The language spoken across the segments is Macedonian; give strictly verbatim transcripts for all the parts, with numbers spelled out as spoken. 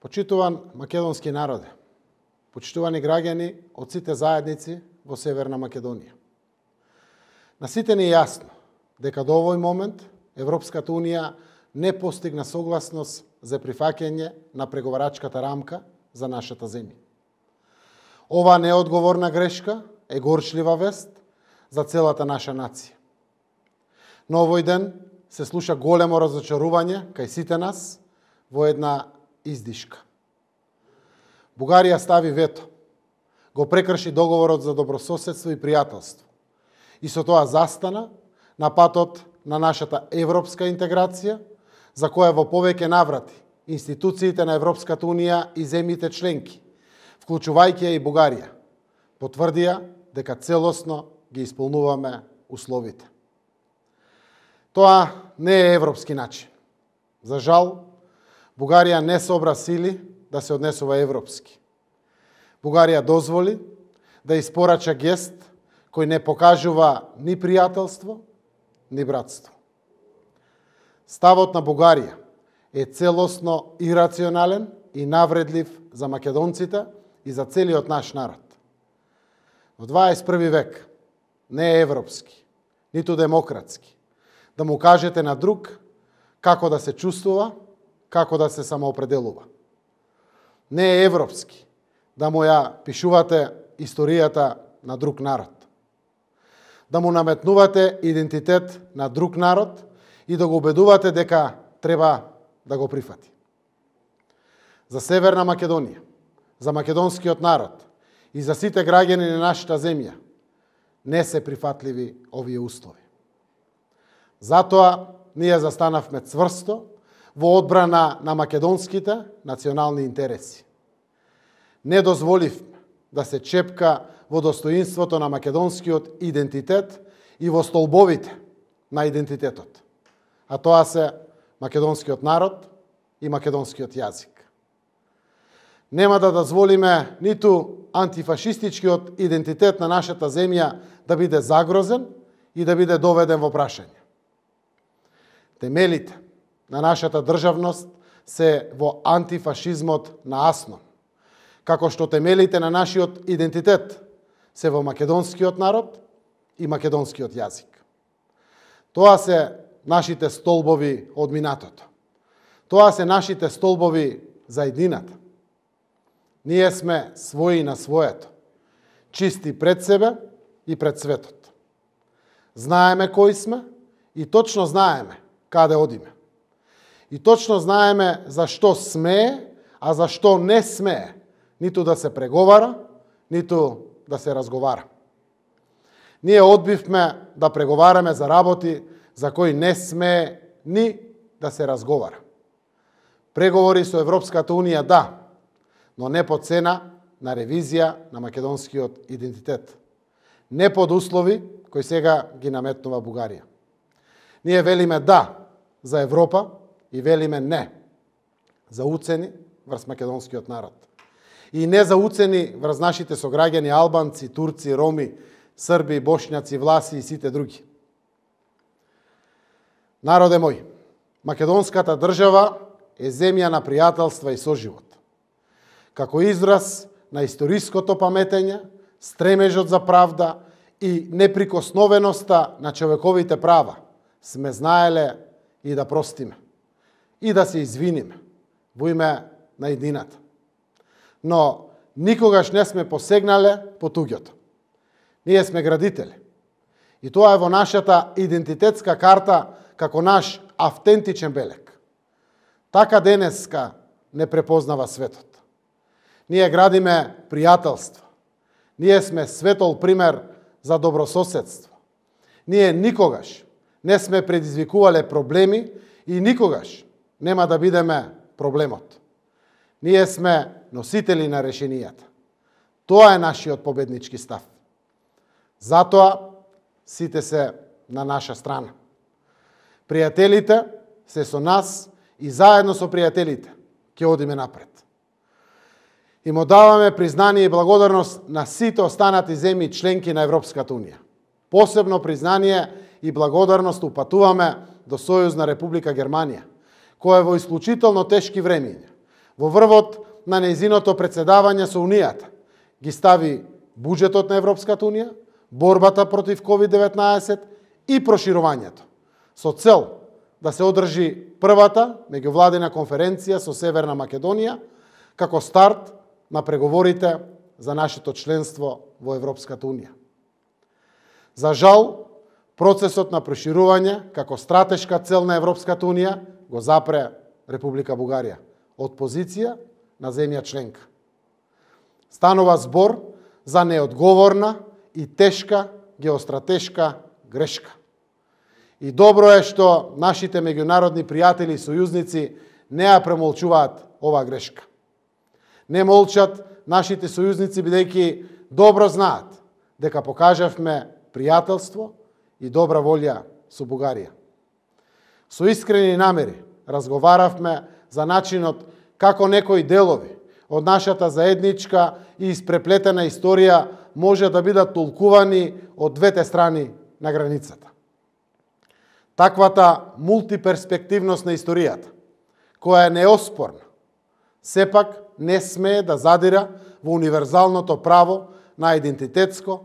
Почитуван македонски народе, почитувани граѓани од сите заедници во Северна Македонија. На сите ни е јасно дека до овој момент Европската Унија не постигна согласност за прифаќање на преговарачката рамка за нашата земја. Ова неодговорна грешка е горчлива вест за целата наша нација. Но овој ден се слуша големо разочарување кај сите нас во една издишка. Бугарија стави вето, го прекрши договорот за добрососедство и пријателство и со тоа застана на патот на нашата европска интеграција, за која во повеќе наврати институциите на Европската Унија и земјите членки, вклучувајќи ја и Бугарија, потврдија дека целосно ги исполнуваме условите. Тоа не е европски начин. За жал, Бугарија не собра сили да се однесува европски. Бугарија дозволи да испорача гест кој не покажува ни пријателство, ни братство. Ставот на Бугарија е целосно ирационален и навредлив за македонците и за целиот наш народ. Во дваесет и први век не е европски, ниту демократски, да му кажете на друг како да се чувствува, како да се самоопределува. Не е европски да му ја пишувате историјата на друг народ. Да му наметнувате идентитет на друг народ и да го убедувате дека треба да го прифати. За Северна Македонија, за македонскиот народ и за сите граѓани на нашата земја не се прифатливи овие услови. Затоа ние застанавме цврсто во одбрана на македонските национални интереси. Не дозволивме да се чепка во достоинството на македонскиот идентитет и во столбовите на идентитетот, а тоа се македонскиот народ и македонскиот јазик. Нема да дозволиме ниту антифашистичкиот идентитет на нашата земја да биде загрозен и да биде доведен во прашање. Темелите на нашата државност се во антифашизмот на Аснон, како што темелите на нашиот идентитет се во македонскиот народ и македонскиот јазик. Тоа се нашите столбови од минатото. Тоа се нашите столбови за еднината. Ние сме своји на своето, чисти пред себе и пред светот. Знаеме кои сме и точно знаеме каде одиме. И точно знаеме за што смее, а за што не смее ниту да се преговара, ниту да се разговара. Ние одбивме да преговараме за работи за кои не смее ни да се разговара. Преговори со Европската Унија да, но не по цена на ревизија на македонскиот идентитет. Не под услови кои сега ги наметнува Бугарија. Ние велиме да за Европа и велиме не за уцени врз македонскиот народ. И не за уцени врз нашите сограѓани албанци, турци, роми, срби, бошњаци, власи и сите други. Народе мој, македонската држава е земја на пријателства и соживот. Како израз на историското паметење, стремежот за правда и неприкосновеноста на човековите права, сме знаеле и да простиме, и да се извиниме во име на едината. Но никогаш не сме посегнале по туѓото. Ние сме градители. И тоа е во нашата идентитетска карта како наш автентичен белег. Така денеска не препознава светот. Ние градиме пријателство. Ние сме светол пример за добрососедство. Ние никогаш не сме предизвикувале проблеми и никогаш нема да бидеме проблемот. Ние сме носители на решенијата. Тоа е нашиот победнички став. Затоа сите се на наша страна. Пријателите се со нас и заедно со пријателите ќе одиме напред. И му даваме признание и благодарност на сите останати земји членки на Европската Унија. Посебно признание и благодарност упатуваме до Сојузна Република Германија, која во исклучително тешки времиња Во врвот на нејзиното претседавање со Унијата ги стави буџетот на Европската Унија, борбата против ковид деветнаесет и проширувањето, со цел да се одржи првата меѓувладина конференција со Северна Македонија како старт на преговорите за нашето членство во Европската Унија. За жал, процесот на проширување како стратешка цел на Европската Унија го запре Република Бугарија од позиција на земја членка. Станува збор за неодговорна и тешка геостратешка грешка. И добро е што нашите меѓународни пријатели и сојузници не ја премолчуваат оваа грешка. Не молчат нашите сојузници бидејќи добро знаат дека покажавме пријателство и добра волја со Бугарија. Со искрени намери разговаравме за начинот како некои делови од нашата заедничка и испреплетена историја може да бидат толкувани од двете страни на границата. Таквата мултиперспективност на историјата, која е неоспорна, сепак не смее да задира во универзалното право на идентитетско,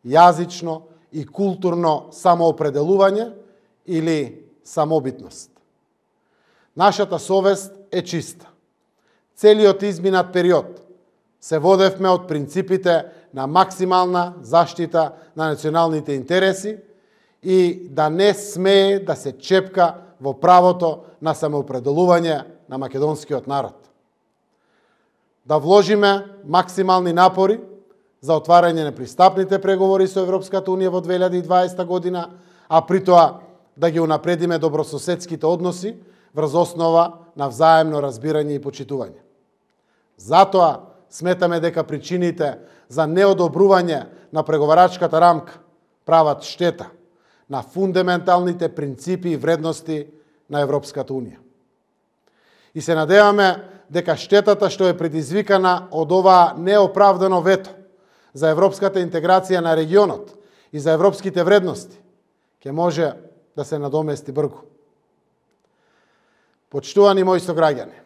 јазично и културно самоопределување или самобитност. Нашата совест е чиста. Целиот изминат период се водевме од принципите на максимална заштита на националните интереси и да не смее да се чепка во правото на самоопределување на македонскиот народ. Да вложиме максимални напори за отварање на пристапните преговори со Европската Унија во две илјади и дваесета година, а при тоа да ги унапредиме добрососедските односи врз основа на взаемно разбирање и почитување. Затоа сметаме дека причините за неодобрување на преговарачката рамка прават штета на фундаменталните принципи и вредности на Европската Унија. И се надеваме дека штетата што е предизвикана од оваа неоправдано вето за европската интеграција на регионот и за европските вредности ќе може да се надомести бргу. Почитувани мои сограѓани,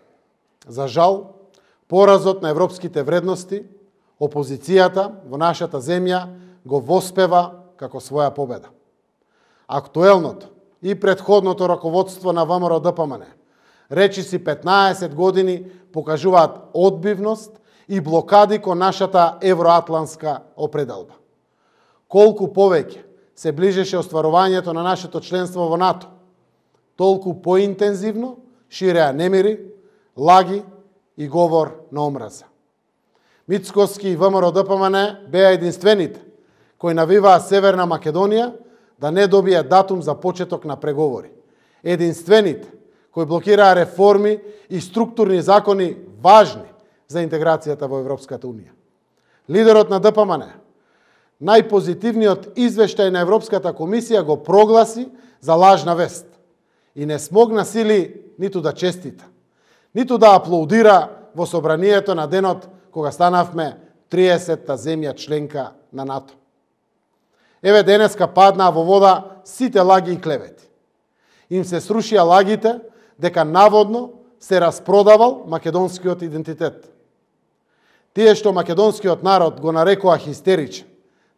за жал, поразот на европските вредности, опозицијата во нашата земја го воспева како своја победа. Актуелното и претходното раководство на ВМРО-ДПМН речиси петнаесет години покажуваат одбивност и блокади кон нашата евроатланска определба. Колку повеќе се ближеше остварувањето на нашето членство во НАТО, толку поинтензивно ширеа немири, лаги и говор на омраза. Мицкоски и ВМРО-ДПМН беа единствените кои навиваа Северна Македонија да не добие датум за почеток на преговори. Единствените кои блокираа реформи и структурни закони важни за интеграцијата во Европската Унија. Лидерот на ДПМН најпозитивниот извештај на Европската комисија го прогласи за лажна вест и не смогна сили ниту да честита, ниту да аплаудира во собранието на денот кога станавме триесетта земја членка на НАТО. Еве денеска паднаа во вода сите лаги и клевети. Им се срушија лагите дека наводно се распродавал македонскиот идентитет. Тие што македонскиот народ го нарекоа хистеричен,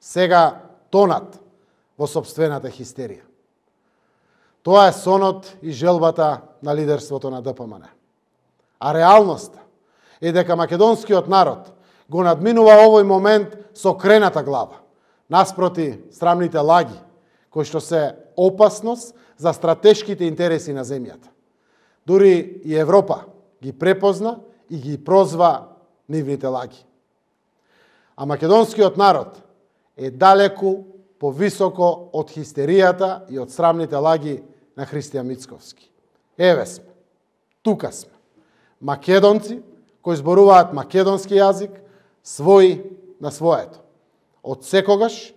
сега тонат во собствената хистерија. Тоа е сонот и желбата на лидерството на ДПМН. А реалноста е дека македонскиот народ го надминува овој момент со крената глава, наспроти срамните лаги, кои што се опасност за стратешките интереси на земјата. Дури и Европа ги препозна и ги прозва нивните лаги. А македонскиот народ е далеку повисоко од хистеријата и од срамните лаги на Христијан Мицковски. Еве сме, тука сме. Македонци кои зборуваат македонски јазик, свој на своето. Од секогаш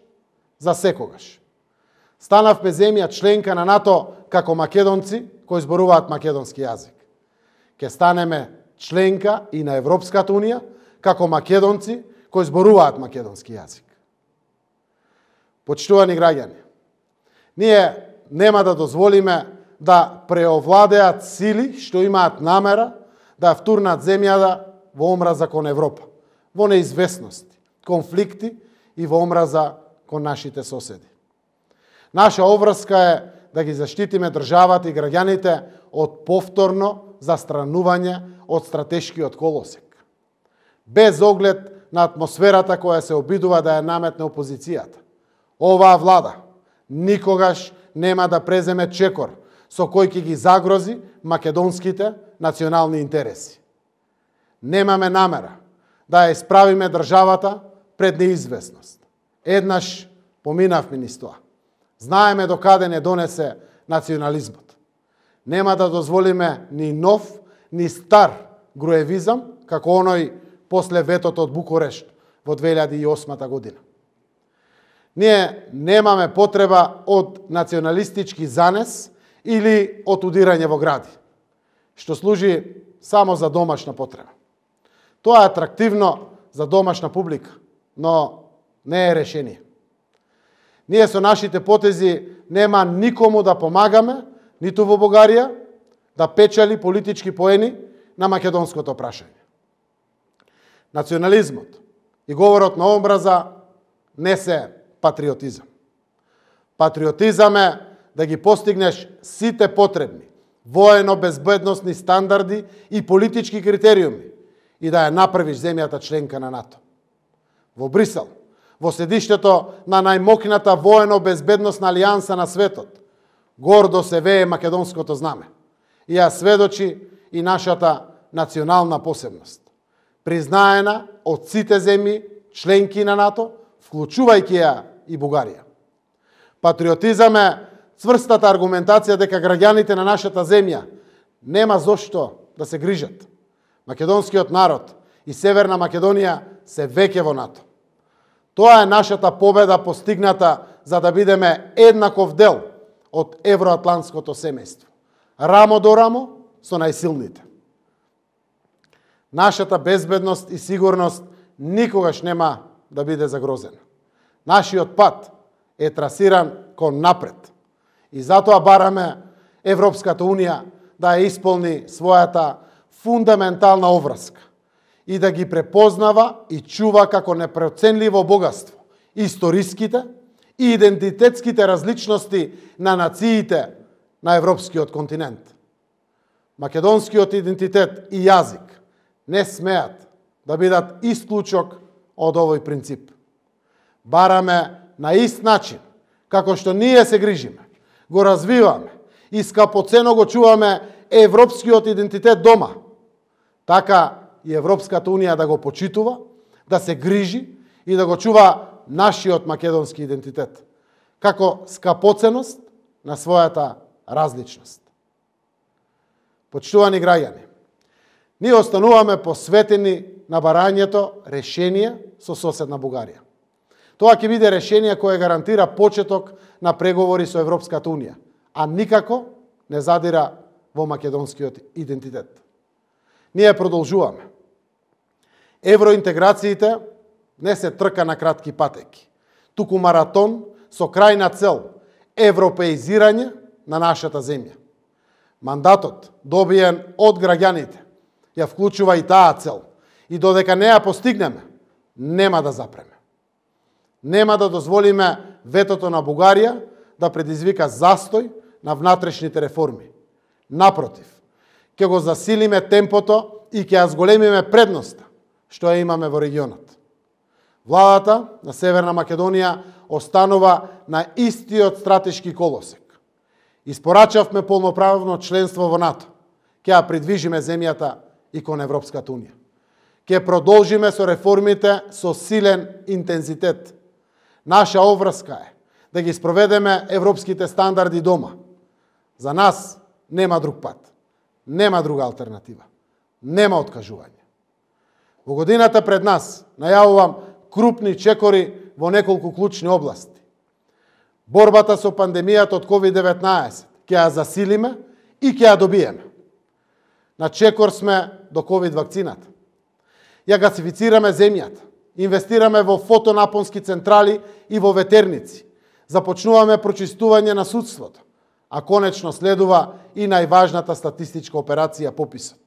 за секогаш. Станавме земја членка на НАТО како македонци кои зборуваат македонски јазик. Ке станеме членка и на Европската Унија како македонци кои зборуваат македонски јазик. Почитувани граѓани, ние нема да дозволиме да преовладеат сили што имаат намера да втурнат земјата во омраза кон Европа, во неизвестности, конфликти и во омраза кон нашите соседи. Наша обврска е да ги заштитиме државата и граѓаните од повторно застранување од стратешкиот колосек, без оглед на атмосферата која се обидува да ја наметне опозицијата. Оваа влада никогаш нема да преземе чекор со кој ќе ги загрози македонските национални интереси. Немаме намера да ја исправиме државата пред неизвестност. Еднаш поминавме низ тоа. Знаеме докаде не донесе национализмот. Нема да дозволиме ни нов, ни стар груевизам, како оној после ветото од Букурешт во две илјади и осма година. Ние немаме потреба од националистички занес или од удирање во гради, што служи само за домашна потреба. Тоа е атрактивно за домашна публика, но не е решение. Ние со нашите потези нема никому да помагаме, ниту во Бугарија, да печали политички поени на македонското прашање. Национализмот и говорот на омраза не се патриотизам. Патриотизам е да ги постигнеш сите потребни воено-безбедносни стандарди и политички критериуми и да ја направиш земјата членка на НАТО. Во Брисел, во седиштето на најмокната воено-безбедносна алијанса на светот, гордо се вее македонското знаме и ја сведочи и нашата национална посебност, признаена од сите земји членки на НАТО, вклучувајќи ја и Бугарија. Патриотизам е цврстата аргументација дека граѓаните на нашата земја нема зошто да се грижат. Македонскиот народ и Северна Македонија се веќе во НАТО. Тоа е нашата победа постигната за да бидеме еднаков дел од евроатлантското семејство, рамо до рамо со најсилните. Нашата безбедност и сигурност никогаш нема да биде загрозена. Нашиот пат е трасиран кон напред и затоа бараме Европската Унија да ја исполни својата фундаментална обврска и да ги препознава и чува како непроценливо богатство историските и идентитетските различности на нациите на европскиот континент. Македонскиот идентитет и јазик не смеат да бидат исклучок од овој принцип. Бараме на ист начин, како што ние се грижиме, го развиваме и скапоцено го чуваме европскиот идентитет дома, така и Европската Унија да го почитува, да се грижи и да го чува нашиот македонски идентитет, како скапоценост на својата различност. Почитувани граѓани, ние остануваме посветени на барањето решение со соседна Бугарија. Тоа ќе биде решение кое гарантира почеток на преговори со Европската Унија, а никако не задира во македонскиот идентитет. Ние продолжуваме. Евроинтеграциите не се трка на кратки патеки, туку маратон со крајна цел европеизирање на нашата земја. Мандатот, добиен од граѓаните, ја вклучува и таа цел и додека не ја постигнеме, нема да запреме. Нема да дозволиме ветото на Бугарија да предизвика застој на внатрешните реформи. Напротив, ќе го засилиме темпото и ќе ја зголемиме предноста што ја имаме во регионот. Владата на Северна Македонија останува на истиот стратешки колосек. Испорачавме полноправно членство во НАТО. Ќе ја придвижиме земјата и кон Европската Унија. Ќе продолжиме со реформите со силен интензитет. Наша обврска е да ги спроведеме европските стандарди дома. За нас нема друг пат, нема друга алтернатива, нема откажување. Во годината пред нас најавувам крупни чекори во неколку клучни области. Борбата со пандемијата од ковид деветнаесет ќе ја засилиме и ќе ја добиеме. На чекор сме до ковид вакцината. Ја гасифицираме земјата, инвестираме во фотонапонски централи и во ветерници, започнуваме прочистување на судството, а конечно следува и најважната статистичка операција пописот.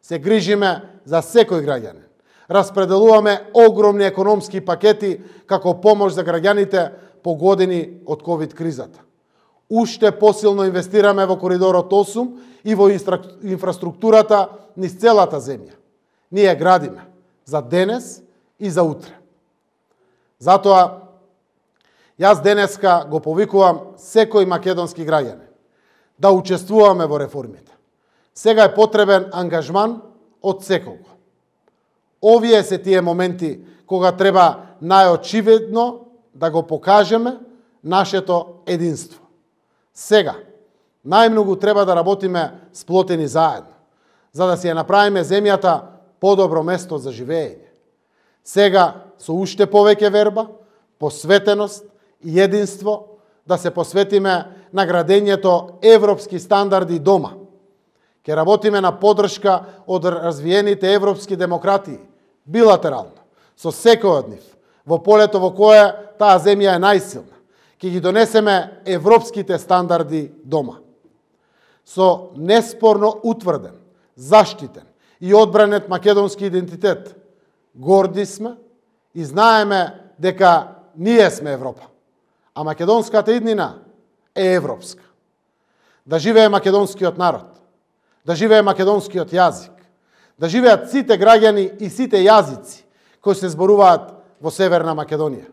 се грижиме за секој граѓанин. Распределуваме огромни економски пакети како помош за граѓаните погодени од ковид кризата. Уште посилно инвестираме во коридорот осум и во инфраструктурата низ целата земја. Ние градиме за денес и за утре. Затоа, јас денеска го повикувам секој македонски граѓанин да учествуваме во реформите. Сега е потребен ангажман од секого. Овие се тие моменти кога треба најочивидно да го покажеме нашето единство. Сега, најмногу треба да работиме сплотени заедно, за да си ја направиме земјата подобро место за живење. Сега, со уште повеќе верба, посветеност и единство, да се посветиме на градењето европски стандарди дома. Ке работиме на поддршка од развиените европски демократии, билатерално, со секој од нив, во полето во кое таа земја е најсилна. Ке ги донесеме европските стандарди дома. Со неспорно утврден, заштитен и одбранет македонски идентитет, горди сме и знаеме дека ние сме Европа, а македонската иднина е европска. Да живее македонскиот народ, да живее македонскиот јазик, да живеат сите граѓани и сите јазици кои се зборуваат во Северна Македонија,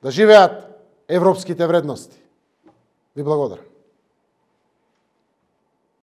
да живеат европските вредности. Ви благодарам.